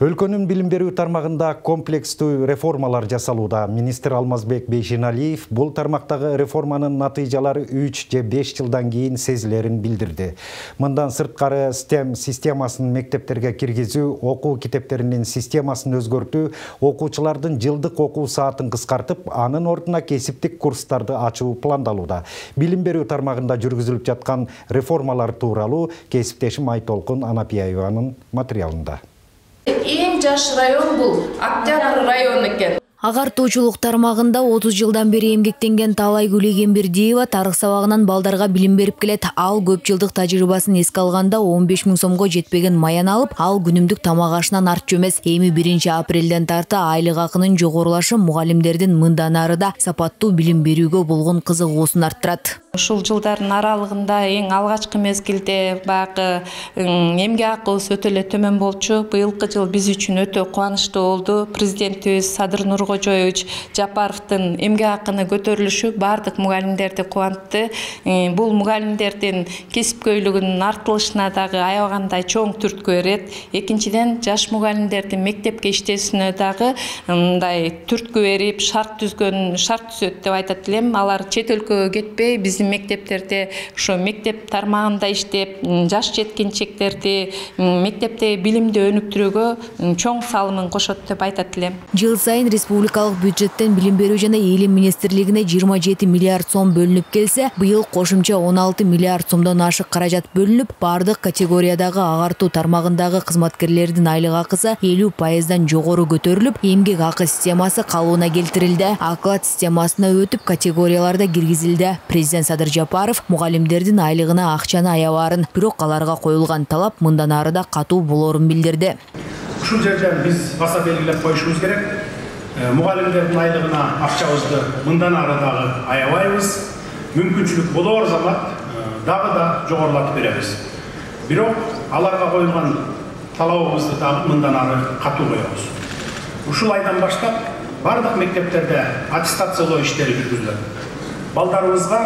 Өлкөнүн билим берүү тармагында комплекстүү реформалар жасалууда. Министр Алмазбек Бейшеналиев бул тармактагы реформанын натыйжалары 3 же 5 жылдан кийин сезилерин билдирди. Мындан сырткары STEM системасын мектептерге киргизүү, окуу китептеринин системасын өзгөртүү, окуучулардын жылдык окуу саатын кыскартып, анын ордуна кесиптик курстарды ачуу пландалууда. Билим берүү тармагында жүргүзүлүп жаткан реформалар тууралуу кесиптешим Айтолкун Анапияеванын материалында. Эң жаш район бул Октябрь району экен. Агартуучулук тармагында 30 жылдан бери эмгектенген Таалай Гүлегенбердиева тарых сабагынан балдарга билим берип келет. Ал көп жылдык тажрыйбасын эске алганда 15 000 сомго жетпеген маян алып, ал күнүмдүк тамак ашынан артчу эмес. Эми 1 апрелден тарта айлык акынын жогорулашы мугалимдердин мындан ары да сапаттуу билим берүүгө болгон кызыгуусун арттырат. Ушул жылдардын аралыгында эң алгачкы мезгилде баягы эмгек акыбыз өтө эле төмөн болчу. Быйылкы жыл биз үчүн өтө кубанычтуу болду. Президентибиз Садыр Нуркожоевич Жапаровдун эмгек акыны көтөрүлүшү бардык мугалимдерди кубантты. Бул мугалимдердин кесипкөйлүгүнүн артылышына дагы аябагандай чоң түрткү берет. Экинчиден, жаш мугалимдердин мектепке иштесине дагы мындай түрткү берип, шарт түзөт деп айтат элем. Алар чет өлкөгө кетпей, биздин мектептерде ошо мектеп тармагында иштеп, жаш жеткинчектерди мектепте билимди өнүктүрүүгө чоң салымын кошот деп айтат элем. Жыл сайын республикалык бюджеттен билим берүү жана элим министрлигине 27 миллиард сом бөлүнүп келсе, быйыл кошумча 16 миллиард сомдон ашык каражат бөлүнүп, бардык категориядагы агартуу тармагындагы кызматкерлердин айлык акысы 50% жогору көтөрүлүп, эмгек акы системасы калыбына келтирилди. Оклад системасына өтүп, категорияларда киргизилди. Президент Садыр Жапаров мугалимдердин айлыгына акчаны аябаарын, бирок аларга коюлган талап мындан ары да катуу болорун билдирди. Ушул жерден биз баса белгилеп коюшубуз керек. Мугалимдердин айлыгына акчабызды мындан ары дагы аябайбыз. Мүмкүнчүлүк болор замат дагы да жогорулатып беребиз. Бирок аларга коюлган талабыбызды дагы мындан ары катуу коебуз. Ушул айдан баштап бардык мектептерде аттестациялоо иштери жүргүзүлөт. Балдарыбызга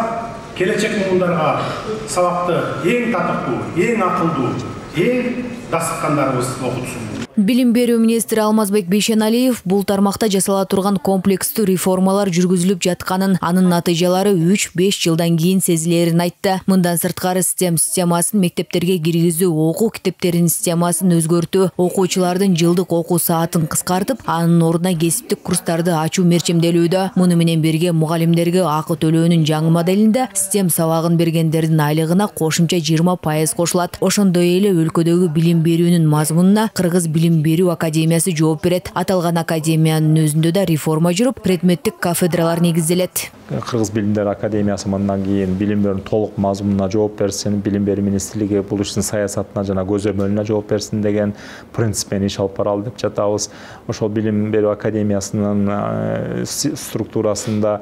келечек муундарга сабакты эң татыктуу, эң акылдуу, эң дастыккандарыбыз окутсун. Билим берүү министри Алмазбек Бейшеналиев бул тармакта жасала турган комплекстүү реформалар жүргүзүлүп жатканын, анын натыйжалары 3-5 жылдан кийин сезилерин айтты. Мындан сырткары системасын мектептерге киргизүү, окуу китептеринин системасын өзгөртүү, окуучулардын жылдык окуу саатын кыскартып, анын ордуна кесиптик курстарды ачуу мерчемделүүдө. Муну менен бирге мугалимдерге акы төлөөнүн жаңы моделинде систем сабагын бергендердин айлыгына кошумча 20% кошулат. Ошондой эле өлкөдөгү билим берүүнүн мазмунуна Кыргыз билим берүү академиясы жооп берет. Аталган академиянын өзүндө да реформа жүрүп, предметтик кафедралар негизделет. Кыргыз билимдер академиясы мындан кийин билим берүүнүн толук мазмунуна жооп берсин, билим берүү министрлиги бул иштин саясатына жана көзөмөлүнө жооп берсин деген принциппен иш алып баралы деп жатабыз. Ошол билим берүү академиясынын структурасында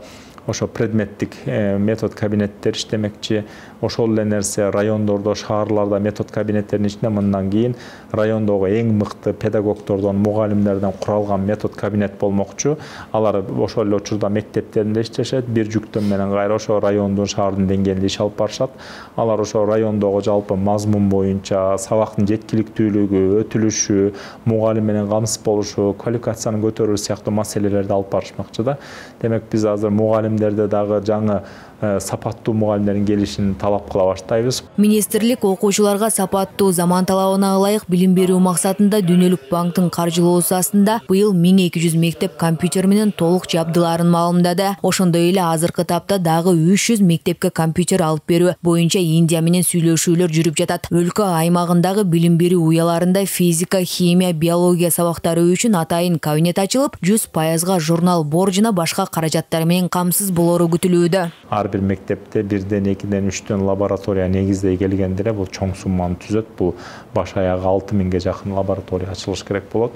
ошо предметтик метод кабинеттер иштемекчи. Ошол эле нерсе райондордо, шаарларда метод кабинеттеринин ичинде мындан кийин райондогу эң мыкты педагогдордон, мугалимдерден куралган метод кабинет болмокчу. Алар ошол эле учурда мектептеринде иштешет, бир жүктөм менен кайра ошо райондун, шаардын деңгээлинде иш алып барышат. Алар ошо райондогу жалпы мазмун боюнча сабактын жеткиликтүүлүгү, өтүлүшү, мугалим менен камсыз болушу, квалификациянын көтөрүлүшү сыяктуу маселелерди алып барышмакчы да. Демек биз азыр мугалимдерде дагы жаңы сапаттуу мугалимдердин келишин талап кыла баштайбыз. Министрлик окуучуларга сапаттуу заман талабына ылайык билим берүү максатында Дүйнөлүк банктын каржылоосу астында быйыл 1200 мектеп компьютер менен толук жабдыларын маалымдады. Ошондой эле азыркы тапта дагы 300 мектепке компьютер алып берүү боюнча Индия менен сүйлөшүүлөр жүрүп жатат. Өлкө аймагындагы билим берүү уяларында физика, химия, биология сабактары үчүн атайын кабинет ачылып, 100% журнал, бор жана башка каражаттар менен камсыз болору күтүлүүдө. Бир мектепте 1-ден 2-ден 3-төн лаборатория негиздей келгенде бул чоң сумманы түзөт. Бул баш аягы 6000ге жакын лаборатория ачылыш керек болот.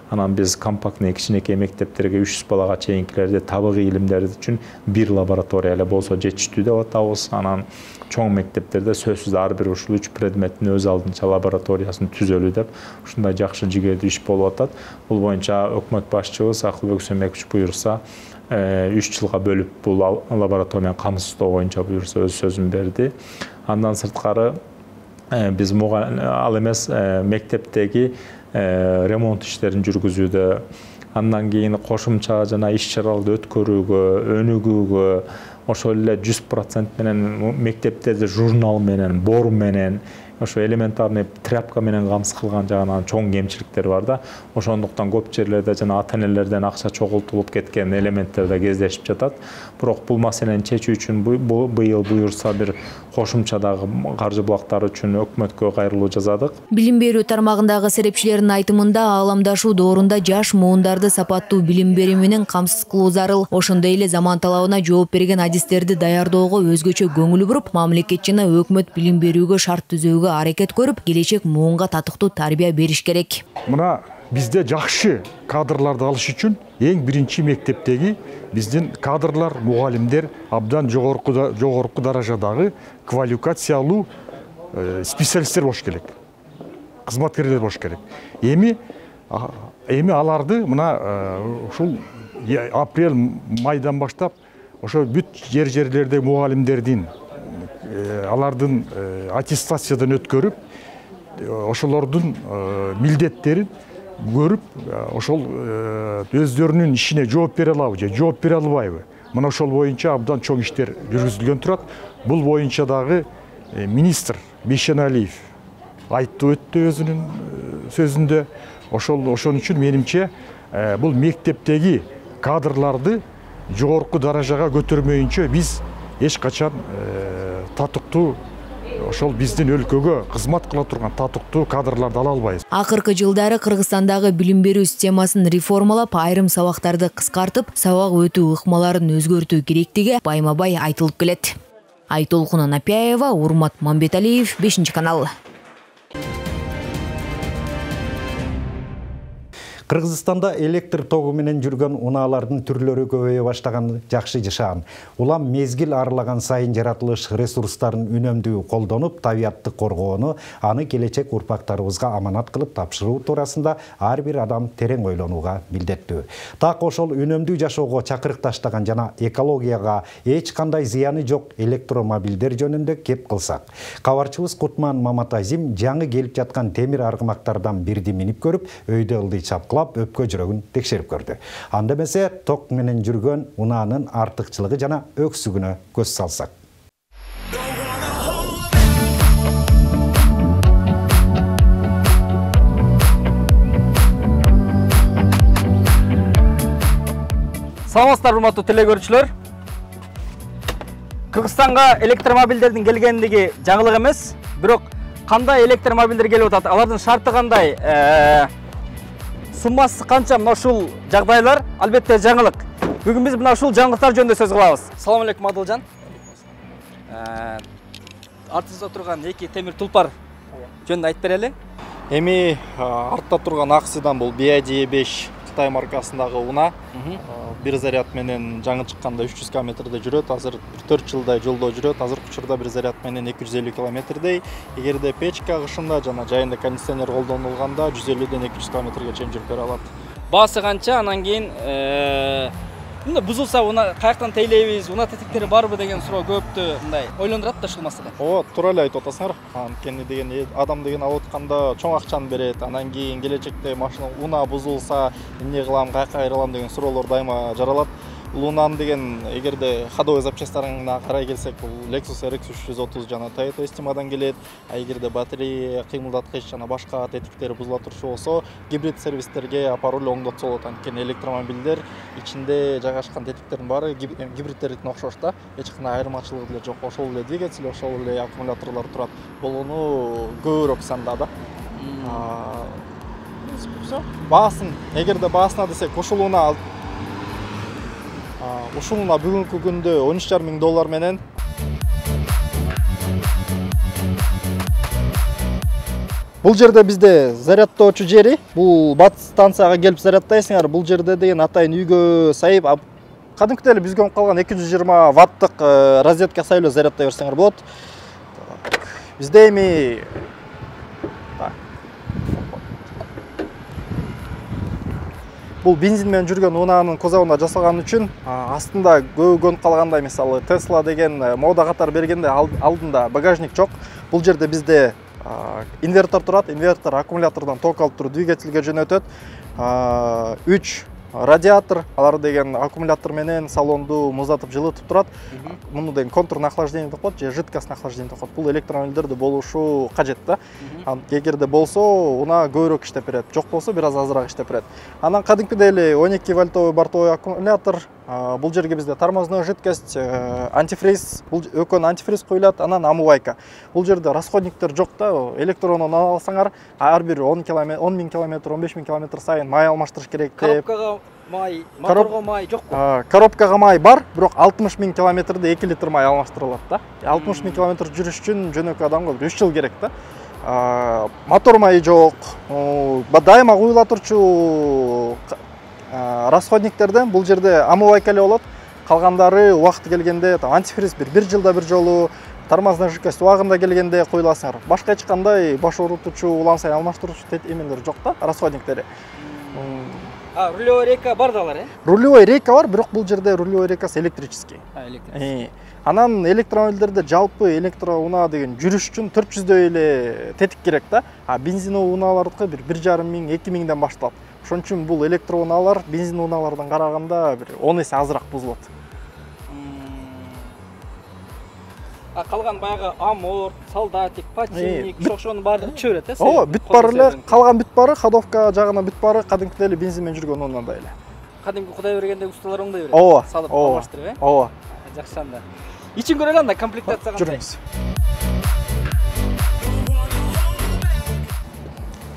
Анан биз компактный кичинекей мектептерге 300 балага чейинкилерде табигый илимдер үчүн 1 лаборатория эле болсо жетиштүү деп атабыз. Анан чоң мектептерде сөзсүз ар бир ушул 3 предметтин өз алдынча лабораториясын түзөлүү деп ушундай жакшы жигердүү иш болуп атат. Бул боюнча өкмөт башчыбыз Акылбек Сөмекович буюрса 3 жылга бөлүп бул лабораторияны камсыздоо боюнча буюрса өз сөзүн берди. Андан сырткары биз ал эмес мектептеги ремонт иштерин жүргүзүүдө, андан кийин кошумча жана иш-чараларды өткөрүүгө, өнүгүүгө, ошол эле 100% менен мектептерде журнал менен, бор менен ошо элементарный тряпка менен камсыз кылган жагынан чоң кемчиликтер бар да. Ошондуктан көп жерлерде жана ата-энелерден акча чогултулуп кеткен элементтер да кездешип жатат. Бирок бул маселени чечүү үчүн быйыл буюрса бир кошумча дагы каржы булактары үчүн өкмөткө кайрылуу жасадык. Билим берүү тармагындагы серепчилердин айтымында ааламдашуу доорунда жаш муундарды сапаттуу билим берүү менен камсыз кылуу зарыл. Ошондой эле заман талабына жооп берген адистерди даярдоого өзгөчө көңүл буруп, мамлекет жана өкмөт билим берүүгө шарт түзүүгө аракет көрүп, келечек муунга татыктуу тарбия бериш керек. Мына бизде жакшы кадрларды алыш үчүн эң биринчи мектептеги биздин кадрлар, мугалимдер абдан жогорку даражадагы квалификациялуу специалисттер болуш керек. Кызматкерлер болуш керек. Эми аларды мына ушул апрель майдан баштап ошо бүт жерлердеги мугалимдердин алардын аттестациядан өткөрүп, ошолордун милдеттерин көрүп, ошол өздөрүнүн ишине жооп бере алабы же жооп бере албайбы. Мына ошол боюнча абдан чоң иштер жүргүзүлгөн турат. Бул боюнча дагы министр Бейшеналиев айтты өттү өзүнүн сөзүндө. Ошон үчүн менимче бул мектептеги кадрларды жогорку даражага көтөрмөйүнчө биз эч качан татыктуу ошол биздин өлкөгө кызмат кыла турган татыктуу кадрларды ала албайбыз. Акыркы жылдары Кыргызстандагы билим берүү системасын реформалап, айрым сабактарды кыскартып, сабак өтүү ыкмаларын өзгөртүү керектиги байма-бай айтылып келет. Айтолкун Анапяева, Урмат Мамбеталиев, 5-канал. Кыргызстанда электр тогу менен жүргөн унаалардын түрлөрү көбөйө баштаганы жакшы жашаан. Улам мезгил арылаган сайын жаратылыш ресурстарын үнөмдүү колдонуп, табиатты коргоону, аны келечек урпактарыбызга аманат кылып тапшыруу туурасында ар бир адам терең ойлонууга милдеттүү. Так ошол үнөмдүү жашоого чакырык таштаган жана экологияга эч кандай зыяны жок электромобилдер жөнүндө кеп кылсак. Кабарчыбыз Кутман Маматазим жаңы келип жаткан темир аргымактардан бирди минип көрүп, өйдө ылдый чапкылап өпкө жүрөгүн текшерип көрдү. Анда эмесе ток менен жүргөн унаанын артыкчылыгы жана өксүгүнө көз салсак. Саламатсыздар, урматтуу телекөрүүчүлөр. Кыргызстанга электромобилдердин келгендиги жаңылык эмес, бирок кандай электромобилдер келип атат, алардын шарты кандай, суммасы канча, мына ушул жагдайлар албетте жаңылык. Бүгүн биз мына ушул жаңылыктар жөнүндө сөз кылабыз. Салам алейкум Адылжан. Артыбызда турган эки темир тулпар жөнүндө айтып берели. Эми артта турган аксидан бул BID5 Кытай маркасындагы уна. Бир заряд менен жаңы чыкканда 300 км жүрөт, азыр 4 жылдай жолдо жүрөт. Азыркы учурда бир заряд менен 250 км. Эгерде печка кышында жана жайында кондиционер колдонулганда 150ден 200 км чейин жүрүп бере алат. Баасы канча, анан кийин мында бузулса уна каяктан тейлейбиз, уна тетиктери барбы деген суроо көптү мындай ойлондурат да ушул маселе. Туура эле айтып атасыңар. Анткени деген адам деген алып атканда чоң акчаны берет. Анан кийин келечекте машина уна бузулса эмне кылам, каяка кайрылам деген суроолор дайыма жаралат. Лунан деген эгерде ходовой запчастьтарына карай келсек, бул Lexus RX 330 жана Toyota Estima'дан келет. Эгерде батарея, кыймылдаткыч жана башка тетиктери бузула турчу болсо, гибрид сервистерге апарып эле оңдотсо болот. Анткени электромобилдер ичинде жайгашкан тетиктердин баары гибридтердикине окшош да. Эч кандай айырмачылыгы деле жок. Ошол эле двигатель, ошол эле аккумуляторлор турат. Болгону көбүрөөк санда да. Баасын, эгерде баасына десек, ушул уна бүгүнкү күндө $13,5 миң менен бул жерде бизде зарядтоочу жери, бул батыс станцияга келип зарядтайсыңар. Бул жерде деген атайын үйгө сайып, кадимкидей эле бизге калган 220 ваттык розетка сайып эле зарядтай берсеңер болот. Бизде эми бул бензин менен жүргөн унаанын кузовунда жасалган үчүн астында көнүп калгандай, мисалы Tesla деген мода катар бергенде алдында багажник жок. Бул жерде бизде инвертор турат. Инвертор аккумулятордон ток алып туруп двигательге жөнөтөт. 3 радиатор, алар деген аккумулятор менен салонду муздатып жылытып турат. Муну деген контурный охлаждение деп коет же жидкостный охлаждение деп коет. Бул электромобилдерде болушу кажет да. Эгерде болсо, унаа көбүрөөк иштеп берет. Жок болсо, бир аз азыраак иштеп берет. Анан кадимкидей эле 12 вольтовый бортовой аккумулятор. Бул жерге бизде тормозной жидкость, антифриз, бул экөөнү антифриз коюлат, анан омывайка. Бул жерде расходниктер жок да, электронун алсаңар, ар бир 10 000 километр, 15 000 километр сайын май алмаштырыш керек деп. Коробкага май, моторго май жокпу? Коробкага май бар, бирок 60 000 километрде 2 литр май алмаштырылат да. 60 000 километр жүрүш үчүн жөнөкөй адамга 3 жыл керек да. Мотор майы жок. Дайыма куюла турчу расходниктерден бул жерде омывайка эле болот. Калгандары убакыты келгенде антифриз бир жылда бир жолу, тормозной жидкость убагында келгенде коюласыңар. Башка эч кандай баш оорутуучу, улам сайын алмаштыруучу эмелер жок да, расходниктери. Рулевой рейка бар да алар, Рулевой рейка бар, бирок бул жерде рулевой рейкасы электрический. Электрический. Анан электромобилдерде жалпы электроунаа деген жүрүш үчүн 400дөй эле тетик керек да. Бензиновый унаалардыкы бир 1,5 миң, 2 миңден башталат. Ошон үчүн бул электроунаалар бензин унаалардан караганда бир 10 эсе азыраак бузулат. Калган баягы амор, солдатик, патчинник, ошонун баардыгы түшө берет, Ооба, бүт бары эле, калган бүт бары, ходовка жагына бүт бары кадимкидей эле бензин менен жүргөн унандай эле. Кадимки Кудай бергенде ustalar оңдой берет. Ооба, салып алмаштырып, Ооба. Жакшы анда. Ичин көрөлү анда комплектация кандай? Жүрүңүз.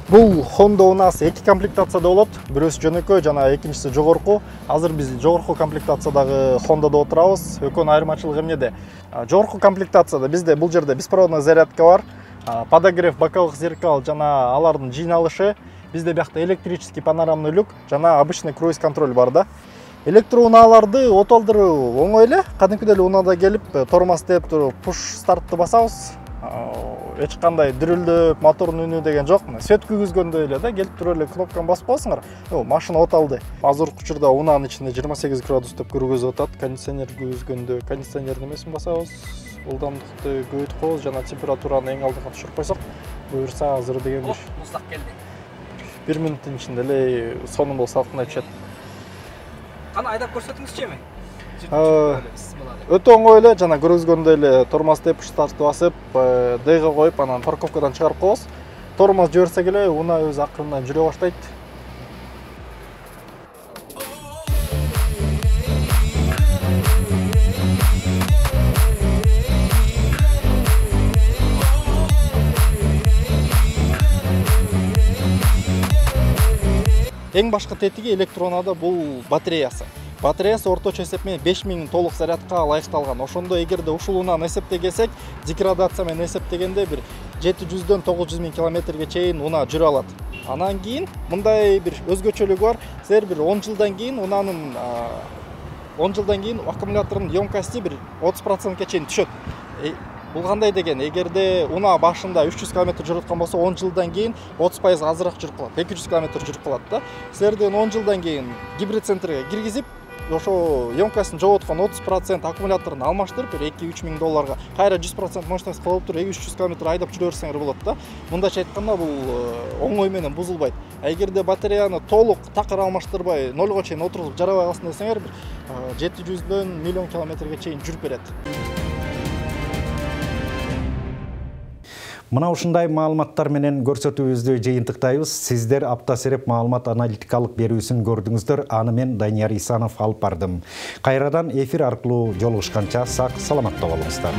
Бул Honda унаасы 2 комплектацияда болот. Бирөөсү жөнөкөй, жана экинчиси жогорку. Азыр биз жогорку комплектациядагы Honda'да отурабыз. Экөөнүн айырмачылыгы эмнеде? Жогорку комплектацияда бизде бул жерде беспроводной зарядка бар, подогрев боковых зеркал жана алардын жыйналышы. Бизде биякта электрический панорамный люк жана обычный круиз контроль бар да. Электроунааларды отолдуруу оңой эле. Кадимкидей эле унаада келип, тормоз деп туруп, push стартты басабыз. Эч кандай дүрүлдөп, мотордун үнү деген жок. Свет күйгүзгөндөй эле да, келип туруп эле кнопканы басып коесуңар. Машина оталды. Азыркы учурда унаанын ичинде 28 градус деп көргөзүп атат. Кондиционер күйгүзгөндө кондиционердин эмесин басабыз. Ылдамдыкты көбөйтүп коебуз жана температураны эң алдыга түшүрүп койсок, буюрса азыр деген бир муздак келди. 1 минуттун ичинде эле сонун болуп салкындай түшөт. Кана айдап көрсөтүңүзчү эми? Өтө оңой эле, жана көргөзгөндөй эле тормоз деп стартты басып, Д-га коюп, анан парковкадан чыгарып коебуз. Тормоз жиберсек эле, унаа өзү акырындан жүрө баштайт. Эң башкы тетиги электроунада бул батареясы. Батареясы орточо эсеп менен 5000 толук зарядка ылайыкталган. Ошондо эгерде ушул унааны эсептегесек, деградация менен эсептегенде бир 700дөн 900 000 километрге чейин унаа жүрө алат. Анан кийин мындай бир өзгөчөлүгү бар. Силер бир 10 жылдан кийин унаанын 10 жылдан кийин аккумулятордун емкости бир 30%га чейин түшөт. Бул кандай деген, эгерде унаа башында 300 км жүрүп аткан болсо, 10 жылдан кийин 30% азыраак жүрүп калат, 200 км жүрүп калат да. Силерден 10 жылдан кийин гибрид центрге киргизип, ошо емкостун жоготкон 30% аккумуляторун алмаштырып, $2-3 миң кайра 100% мощность кылып туруп 200 км айдап жүрө берсеңер болот да. Мындайча айтканда бул оңой менен бузулбайт. Эгерде батареяны толук такыр алмаштырбай 0 чейин отургузуп жарабай калсын десеңер, 700дөн 1 миллион километрге чейин жүрүп берет. Мына ушундай маалыматтар менен көрсөтүүбүздү жыйынтыктайбыз. Сиздер апта сереп маалымат аналитикалык берүүсүн көрдүңүздөр. Аны мен Данияр Исанов алып бардым. Кайрадан эфир аркылуу жолугушканча сак саламатта болуңуздар.